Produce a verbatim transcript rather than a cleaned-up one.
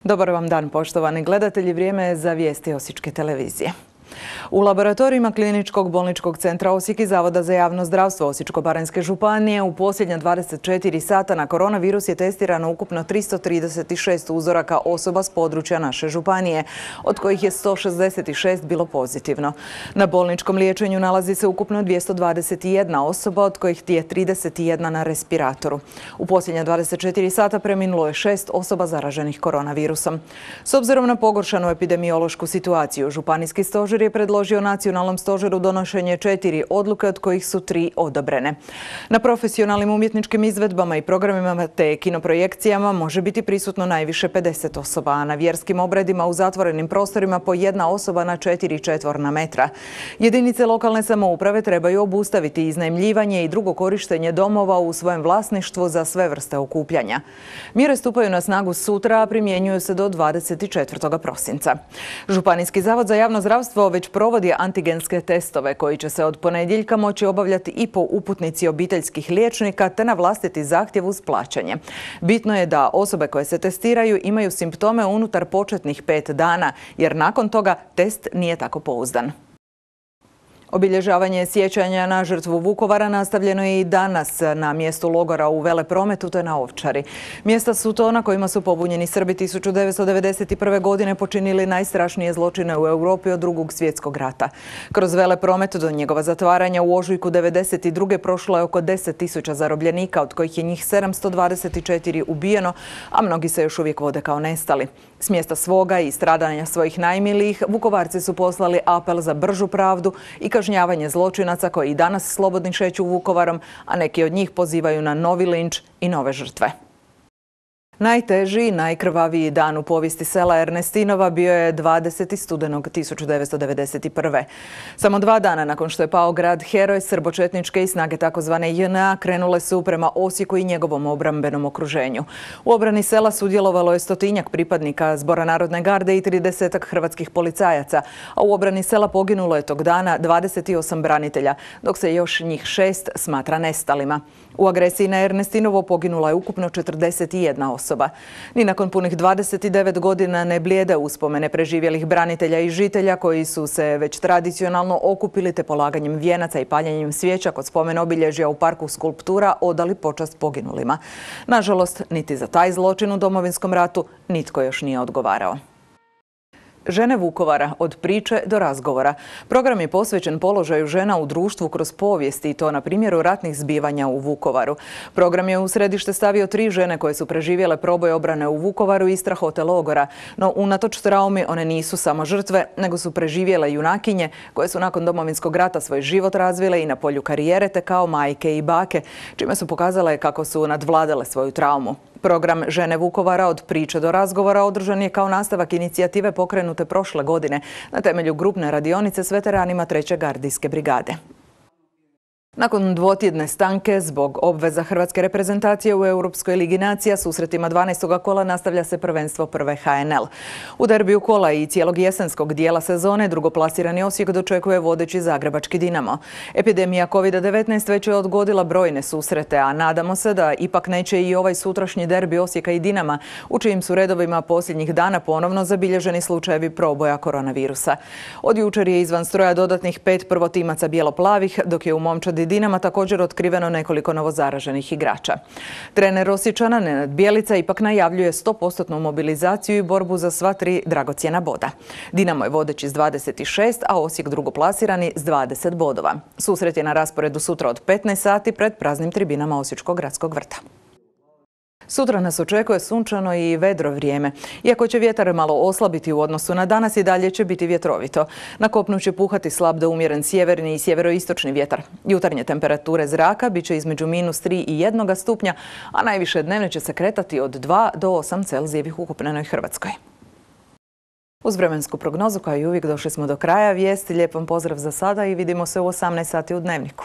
Dobar vam dan, poštovani gledatelji. Vrijeme je za vijesti Osječke televizije. U laboratorijima Kliničkog bolničkog centra Osijek i Zavoda za javno zdravstvo Osječko-baranjske županije u posljednja dvadeset četiri sata na koronavirus je testirano ukupno tristo trideset šest uzoraka osoba s područja naše županije, od kojih je sto šezdeset šest bilo pozitivno. Na bolničkom liječenju nalazi se ukupno dvjesto dvadeset jedna osoba, od kojih je trideset jedna na respiratoru. U posljednja dvadeset četiri sata preminulo je šest osoba zaraženih koronavirusom. S obzirom na pogoršanu epidemiološku situaciju, županijski stožer je predložio nacionalnom stožeru donošenje četiri odluke, od kojih su tri odobrene. Na profesionalnim umjetničkim izvedbama i programima te kinoprojekcijama može biti prisutno najviše pedeset osoba, a na vjerskim obredima u zatvorenim prostorima po jedna osoba na četiri četvorna metra. Jedinice lokalne samouprave trebaju obustaviti iznajmljivanje i drugo korištenje domova u svojem vlasništvu za sve vrste okupljanja. Mjere stupaju na snagu sutra, a primjenjuju se do dvadeset četvrtog prosinca. Županijski zavod za javno zdravstvo već provodi antigenske testove koji će se od ponedjeljka moći obavljati i po uputnici obiteljskih liječnika te na vlastiti zahtjev uz plaćanje. Bitno je da osobe koje se testiraju imaju simptome unutar početnih pet dana, jer nakon toga test nije tako pouzdan. Obilježavanje sjećanja na žrtvu Vukovara nastavljeno je i danas na mjestu logora u Veleprometu te na Ovčari. Mjesta su to na kojima su pobunjeni Srbi tisuću devetsto devedeset prve. godine počinili najstrašnije zločine u Europi od Drugog svjetskog rata. Kroz Velepromet do njegova zatvaranja u ožujku devedeset druge prošlo je oko deset tisuća zarobljenika, od kojih je njih sedamsto dvadeset četiri ubijeno, a mnogi se još uvijek vode kao nestali. S mjesta svoga i stradanja svojih najmilijih, Vukovarci su poslali apel za bržu pravdu i kažnjavanje zločinaca koji i danas slobodni šeću Vukovarom, a neki od njih pozivaju na novi linč i nove žrtve. Najteži i najkrvaviji dan u povijesti sela Ernestinova bio je dvadesetog studenog tisuću devetsto devedeset prve. Samo dva dana nakon što je pao grad heroj, srbočetničke i snage takozvane J N A krenule su prema Osijeku i njegovom obrambenom okruženju. U obrani sela sudjelovalo je stotinjak pripadnika Zbora narodne garde i tridesetak hrvatskih policajaca, a u obrani sela poginulo je tog dana dvadeset osam branitelja, dok se još njih šest smatra nestalima. U agresiji na Ernestinovo poginula je ukupno četrdeset jedna osoba. Ni nakon punih dvadeset devet godina ne blijede uspomene preživjelih branitelja i žitelja koji su se već tradicionalno okupili te polaganjem vijenaca i paljenjem svijeća kod spomen obilježja u parku skulptura odali počast poginulima. Nažalost, niti za taj zločin u Domovinskom ratu nitko još nije odgovarao. Žene Vukovara, od priče do razgovora. Program je posvećen položaju žena u društvu kroz povijest i to na primjeru ratnih zbivanja u Vukovaru. Program je u središte stavio tri žene koje su preživjele proboj obrane u Vukovaru i strahote logora. No, unatoč traumi, one nisu samo žrtve, nego su preživjele junakinje koje su nakon Domovinskog rata svoj život razvile i na polju karijere te kao majke i bake, čime su pokazale kako su nadvladale svoju traumu. Program Žene Vukovara, od priče do razgovora održan je kao nastavak inicijative pokrenute prošle godine na temelju grupne radionice s veteranima treće gardijske brigade. Nakon dvotjedne stanke zbog obveza hrvatske reprezentacije u Europskoj ligi nacija susretima dvanaestog kola nastavlja se prvenstvo prve H N L. U derbiju kola i cijelog jesenskog dijela sezone drugoplasirani Osijek dočekuje vodeći zagrebački Dinamo. Epidemija kovid devetnaest već je odgodila brojne susrete, a nadamo se da ipak neće i ovaj sutrašnji derbi Osijeka i Dinama, u čijim su redovima posljednjih dana ponovno zabilježeni slučajevi proboja koronavirusa. Od jučer je izvan stroja dodatnih pet prvotimaca bijelo-plavih, dok je u momčadi Dinama također otkriveno nekoliko novozaraženih igrača. Trener Osječana Nenad Bjelica ipak najavljuje sto posto mobilizaciju i borbu za sva tri dragocjena boda. Dinamo je vodeći s dvadeset šest, a Osijek drugoplasirani s dvadeset bodova. Susret je na rasporedu sutra od petnaest sati pred praznim tribinama Osječkog gradskog vrta. Sutra nas očekuje sunčano i vedro vrijeme. Iako će vjetar malo oslabiti u odnosu na danas, i dalje će biti vjetrovito. Na kopnu će puhati slab do umjeren sjeverni i sjeveroistočni vjetar. Jutarnje temperature zraka bit će između minus tri i jednog stupnja, a najviše dnevne će se kretati od dva do osam Celzijevih u ukupnenoj Hrvatskoj. Uz vremensku prognozu, kao i uvijek, došli smo do kraja vijesti. Lijep vam pozdrav za sada i vidimo se u osamnaest sati u Dnevniku.